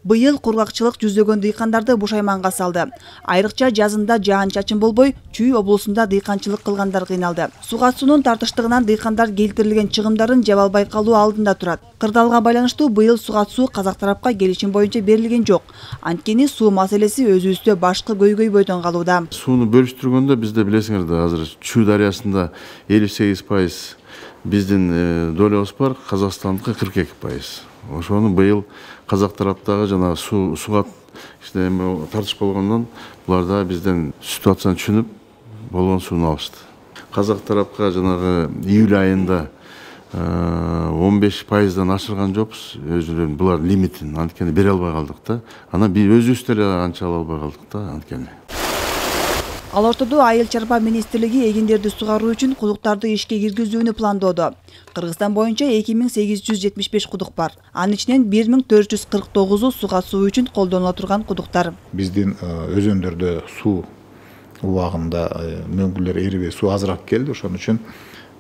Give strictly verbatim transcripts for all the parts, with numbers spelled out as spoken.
Быйыл кургакчылык жүздөгөн дыйкандарды бушайманга салды. Айрыкча жазында жаан-чачын болбой, Чүй облусунда дыйканчылык кылгандар кыйналды. Суга суунун тартыштыгынан дыйкандар келтирилген чыгымдарын жаба албай калуу алдында турат. Кырдаалга байланыштуу быйыл суга суу казак тарапка келишим боюнча берилген жок. Анткени суу маселеси өзүбүздө башкы көйгөйбөйдөн калууда. Сууну бөлүштүргөндө бизде билесиңер да азыр Чүй дарыясында элүү сегиз пайыз биздин долябыз бар, Казакстандыкы кырк эки пайыз. Ошону быйыл казак тараптагы жана суу суга тартыш болгондон булар да бизден ситуацияны түшүнүп болгон сууну алышты. Казак тарапка жанагы июль айында он беш пайыздан ашырган жокпуз өзүлөрүн булар лимитин, анткени бере албай калдык да. Анан биз өзүбүз деле анча ала албай калдык да анткени. Ал ортодо Айыл чарба министрлиги эгиндерди сугаруу үчүн кудуктарды ишке киргизүүнү пландоодо. Кыргызстан боюнча эки миң сегиз жүз жетимиш беш кудук бар. Анын ичинен бир миң төрт жүз кырк тогузу суга суу үчүн колдонула турган кудуктар. Биздин өзөндөрдө суу убагында мөңгүлөр эрибей суу азыраак келди. Ошон үчүн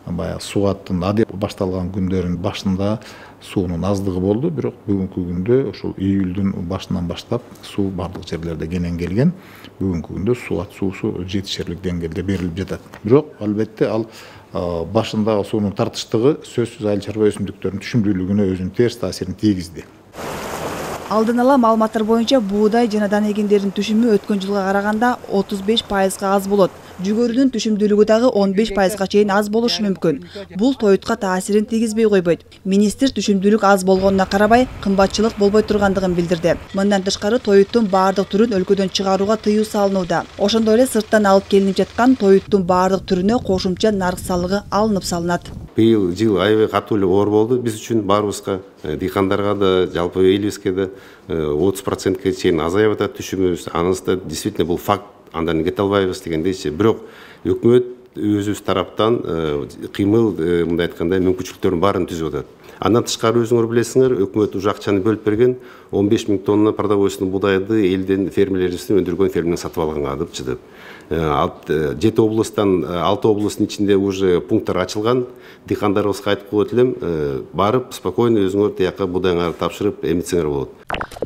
баягы сугаттын адеп башталган күндөрүн башында суунун аздыгы болду, бирок бүгүнкү күндө ошол июлдун башынан баштап суу бардык жерлерде кенен келген. Бүгүнкү күндө сугат суусу жетишерлик деңгээлде берилип жатат. Бирок албетте ал башындагы суунун тартыштыгы сөзсүз айыл чарба өсүмдүктөрүнүн түшүмдүүлүгүнө өзүнүн терс таасирин тийгизди. Алдын ала маалыматтар боюнча буудай жана дан эгиндердин түшүмү өткөн жылга караганда отуз беш пайызга аз болот. Жүгөрүнүн түшүмдүүлүгү дагы он беш пайызга чейин аз болушу мүмкүн. Бул тоютка таасирин тийгизбей койбойт. Министр түшүмдүүлүк аз болгонуна карабай, кымбатчылык болбой тургандыгын билдирди. Мындан тышкары тоюттун баардык түрүн өлкөдөн чыгарууга тыюу салынууда. Ошондой эле сырттан алып келинип жаткан тоюттун баардык түрүнө кошумча нарык салыгы алынып салынат. Быйыл жыл аябай катуу эле оор болду биз үчүн баарыбызга, дыйкандарга да, жалпы элибизге да отуз процентке чейин азайып атат түшүмүбүз. Анысы действительно бул факт. Андан кете албайбыз дегендейчи. Бирок өкмөт өзүбүз тараптан кыймыл, мындай айтканда, мүмкүнчүлүктөрдүн баарын түзүп атат. Андан тышкары өзүңөр билесиңер, өкмөт уже акчаны бөлүп берген, он беш миң тонна продовольственный будайды элден фермерлерибиздин өндүргөн фермерден сатып алганга деп чыдып. Жети облустан алты облустун ичинде уже пункттар ачылган. Дыйкандарыбызга айтып коет элем, барып спокойно өзүңөр тияка будайыңарды тапшырып эмитсеңер болот.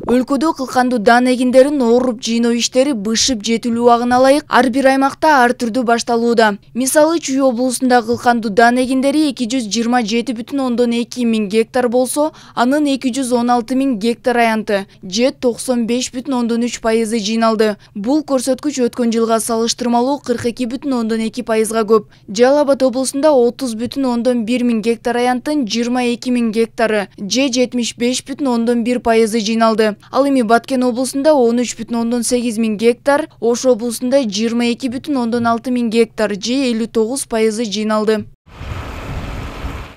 Өлкөдө кылкандуу дан эгиндерин ооруп жыйноо иштери бышып жетилүү убагына ылайык ар бир аймакта ар түрдүү башталууда. Мисалы, Чүй облусунда кылкандуу дан эгиндери эки жүз жыйырма жети бүтүн ондон эки миң гектар болсо, анын эки жүз он алты миң гектар аянты, же токсон беш бүтүн ондон үч пайызы жыйналды. Бул көрсөткүч өткөн жылга салыштырмалуу кырк эки бүтүн ондон эки пайызга көп. Жалал Абад облусунда отуз бүтүн ондон бир миң гектар аянтын жыйырма эки миң гектары, же жетимиш беш бүтүн ондон бир пайызы жыйналды. Ал эми Баткен облусунда он үч бүтүн ондон сегиз миң гектар, Ош облусунда жыйырма эки бүтүн ондон алты миң гектар, же элүү тогуз пайызы жыйналды.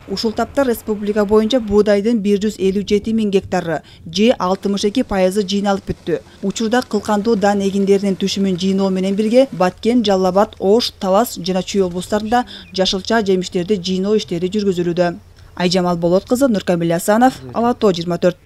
Ушул тапта республика боюнча буудайдын бир жүз элүү жети миң гектары, же алтымыш эки пайызы жыйналып бүттү. Учурда кылкандуу дан эгиндеринин түшүмүн жыйноо менен бирге Баткен, Жалал Абад, Ош, Талас жана Чүй облустарында жашылча жемиштерди жыйноо иштери жүргүзүлүүдө. Айжамал Болот кызы, Нуркамил Асанов, Ала тоо жыйырма төрт.